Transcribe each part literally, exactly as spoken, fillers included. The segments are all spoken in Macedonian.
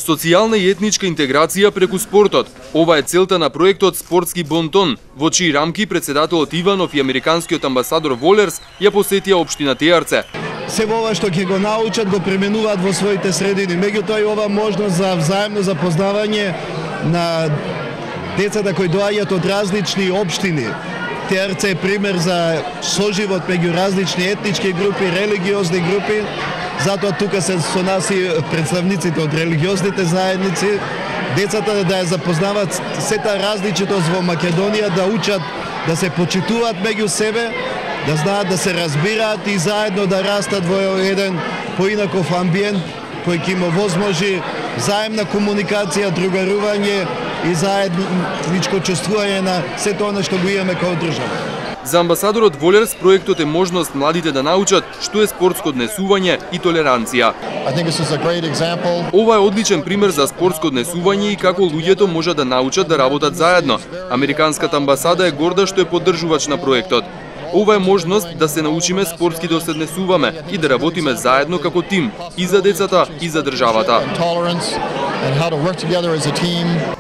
Социјална и етничка интеграција преку спортот. Ова е целта на проектот Спортски бонтон, во чии рамки председателот Иванов и американскиот амбасадор Волерс ја посетија општина Тејарце. Се ова што ќе го научат го применуваат во своите средини. Меѓутоа и ова можност за взаемно запознавање на децата кои доаѓаат од различни општини. Тејарце е пример за соживот меѓу различни етнички групи, религиозни групи. Затоа тука се со нас и представниците од религиозните заедници. Децата да ја запознават сета различитост во Македонија, да учат да се почитуваат меѓу себе, да знаат да се разбираат и заедно да растат во еден поинаков амбиент кој ќе им овозможи заемна комуникација, другарување и заедничко чувствување на сето она што го имаме како држава. За амбасадорот Волерс проектот е можност младите да научат што е спортско однесување и толеранција. Ова е одличен пример за спортско однесување и како луѓето можат да научат да работат заедно. Американската амбасада е горда што е поддржувач на проектот. Ова е можност да се научиме спортски да се однесуваме и да работиме заедно како тим, и за децата, и за државата.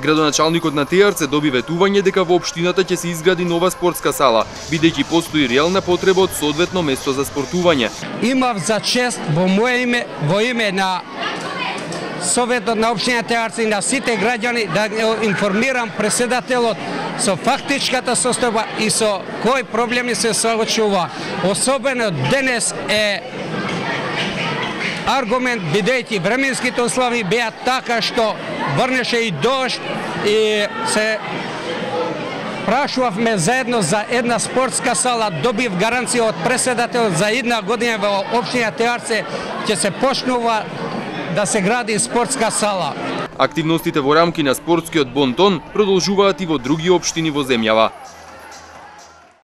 Градоначалникот на Тејарце доби ветување дека во општината ќе се изгради нова спортска сала, бидејќи постои реална потреба од соодветно место за спортување. Имав за чест во моје име, во име на Советот на општина Тејарце и на сите граѓани да информирам председателот со фактичката состојба и со кои проблеми се соочува. Особено денес е аргумент, бидејќи временските услови беа така што врнеше и дожд и се прашувавме заедно за една спортска сала, добив гаранција од председателот за една година во општина Тејарце ќе се почнува да се гради спортска сала. Активностите во рамки на спортскиот бонтон продолжуваат и во други општини во земјава.